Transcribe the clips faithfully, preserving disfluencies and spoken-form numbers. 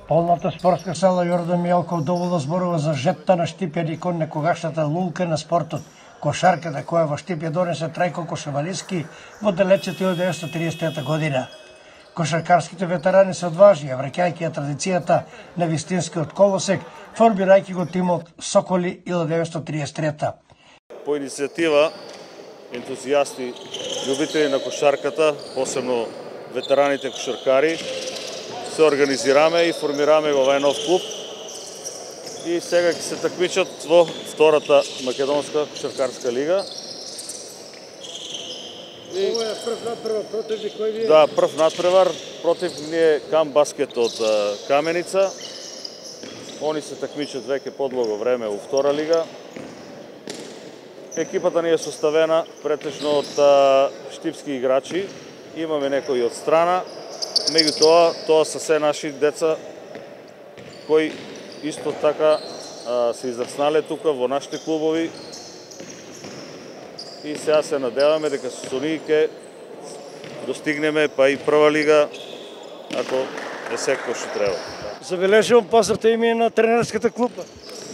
Полната спортска сала Јордан Мијалков доволно зборува за жетта на Штипјани кон некогашната лулка на спортот, кошарката која во Штипје донесе Трајко Кошевалиски во далечната илјада деветстотини триесет и трета година. Кошаркарските ветерани се одважни, враќајќи ја традицијата на вистинскиот колосек, формирајќи го тимот Соколи илјада деветстотини триесет и трета. По иницијатива ентузијасти, љубители на кошарката, посебно ветераните кошаркари, се организираме и формираме во овај нов клуб и сега ќе се такмичат во втората македонска кошаркарска лига. И... Ова е прв надпревар против кој ви е? Да, прв надпревар против ние Кам Баскет од Каменица. Они се такмичат веќе подлого време во втора лига. Екипата ни е составена претежно од штипски играчи. Имаме некои од страна. Меѓутоа, тоа се се наши деца кои исто така а, се израснале тука во нашите клубови и сега се надеваме дека со нив ќе достигнеме па и прва лига ако е секој што треба. Забележувам позната име на тренерската клупа.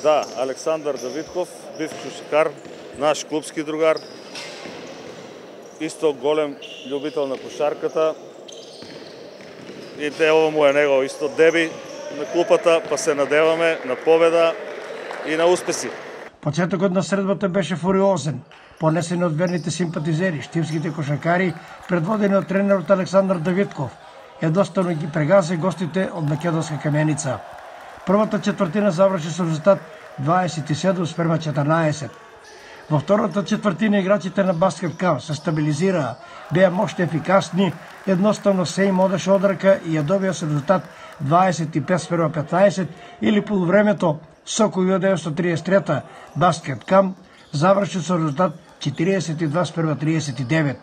Да, Александар Давидков, бив кошаркар, наш клубски другар, исто голем љубител на кошарката. И те ово му е него исто деби на клупата, па се надеваме на победа и на успеси. Почетокот на средбата беше фуриозен, понесен од верните симпатизери, штипските кошаркари, предводени од тренерот Александар Давидков. Едноставно ги прегазе гостите од македонска Каменица. Првата четвртина заврши со резултат дваесет и седум спрема четрнаесет. Во втората четвртина играчите на Баскет Кам се стабилизираа, беа мощни ефикасни, едноставно се им одеше од рака и ја добија со резултат дваесет и пет спрема петнаесет или полувремето Сокол илјада деветстотини триесет и трета Баскет Кам заврши со резултат четириесет и два спрема триесет и девет.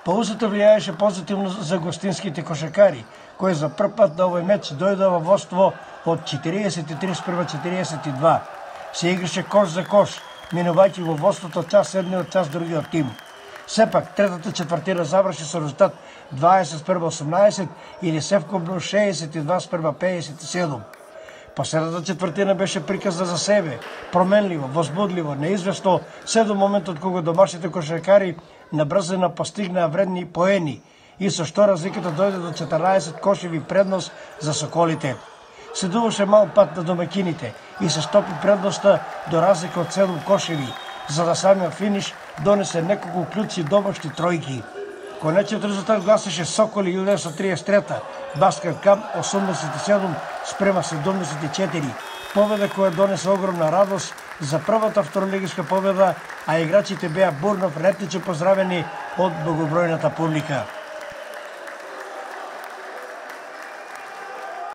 Паузата влијаеше позитивно за гостинските кошаркари, кои за прв пат на овој меч дојдоа во водство од четириесет и три спрема четириесет и два. Се играше кош за кош, минувајќи во водството час едниот час другиот тим. Сепак, третата четвртина заврши со резултат дваесет спрема осумнаесет или севкупно шеесет и два спрема пеесет и седум. Последната четвртина беше приказна за себе, променливо, возбудливо, неизвестно, се до моментот кога домашните кошаркари на брзина постигнаа вредни поени и со што разликата дојде до четрнаесет кошеви предност за Соколите. Се дуваше мал пат на домакините и се стопи предноста до разлика од седум кошеви, за да самиот финиш донесе неколку клучи домашни тројки. Конечниот резултат гласеше Соколи илјада деветстотини триесет и трета, Баскет Кам осумдесет и седум спрема седумдесет и четири. Победа која донесе огромна радост за првата второлигиска победа, а играчите беа бурно вретниче поздравени од многобројната публика.